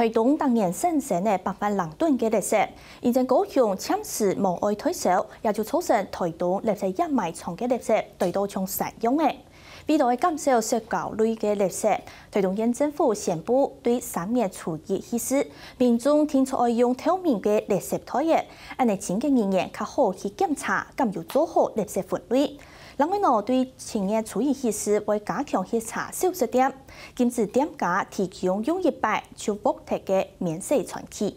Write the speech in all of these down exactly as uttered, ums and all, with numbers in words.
台東逐年產生个百萬零噸个垃圾，因為高雄暫時無愛代收，也就造成台東垃圾掩埋場个垃圾堆到像山樣仔。為了愛減少塑膠類个垃圾，台東縣政府宣布對三月初一起始，民眾定著愛用透明个垃圾袋仔，恁仔清潔人員較好去檢查敢有做好垃圾分類。另外呢，對七月初一起始會加強核查小食店，禁止店家提供用一擺就獲得个免洗餐具。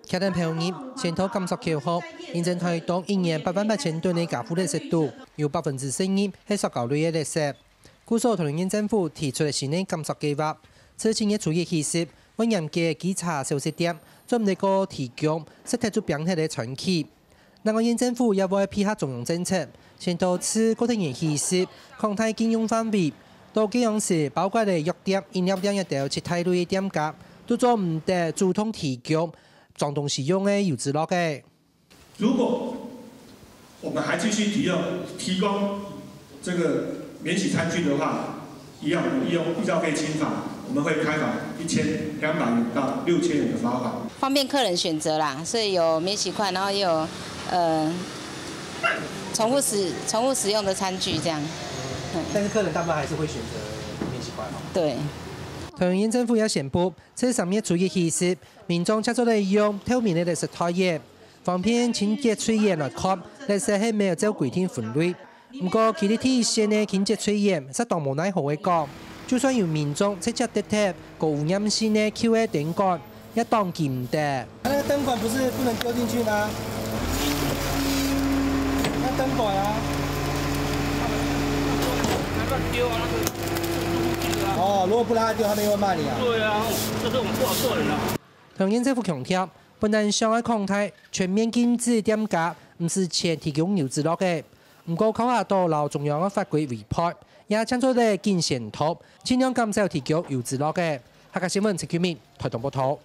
徛等票入，先到感受口號，因為台東一年八萬八千噸个家戶垃圾肚，有百分之十二係塑膠類个垃圾。故所台東縣政府提出个新个感受計畫，自七月初一起始，會嚴格稽查小食店，做毋得過提供食忒就放忒个餐具。另外縣政府也會配合中央政策，先到自過忒年起始，擴大禁用範圍。到該央時，包括了藥店、飲料店這兜七大類个店家，都做毋得主動提供 裝東西用个油紙橐仔。如果我們還繼續提供提供這個免洗餐具的話，一樣我們利用醫藥費清罰，我們會開罰一千兩百元到六千元的罰款。方便客人選擇啦，所以有免洗筷，然後也有呃重複使重複使用的餐具這樣。嗯，但是客人大部分還是會選擇免洗筷哦。對。桃園縣政府也宣布，自三月初一起始， 民眾就做得用透明个垃圾袋仔，方便清潔隊員來看，垃圾係無照規定分類。毋過，佢這第一線个清潔隊員，實當無奈何个講，就算有民眾直接擲忒高污染性个舊个燈管，也擋佢毋得。那個燈管不是不能丟進去嗎？那燈管啊。哦，如果不讓他丟，他們又會罵你啊。對啊，這是我們不好做人啊。 桃園政府強調，本來想愛擴大全面禁止店家毋使錢提供油紙橐仔，毋過考慮到摎中央个法規違背，也正做得緊先到，盡量減少提供油紙橐仔。客家新聞陳居明，台東報導。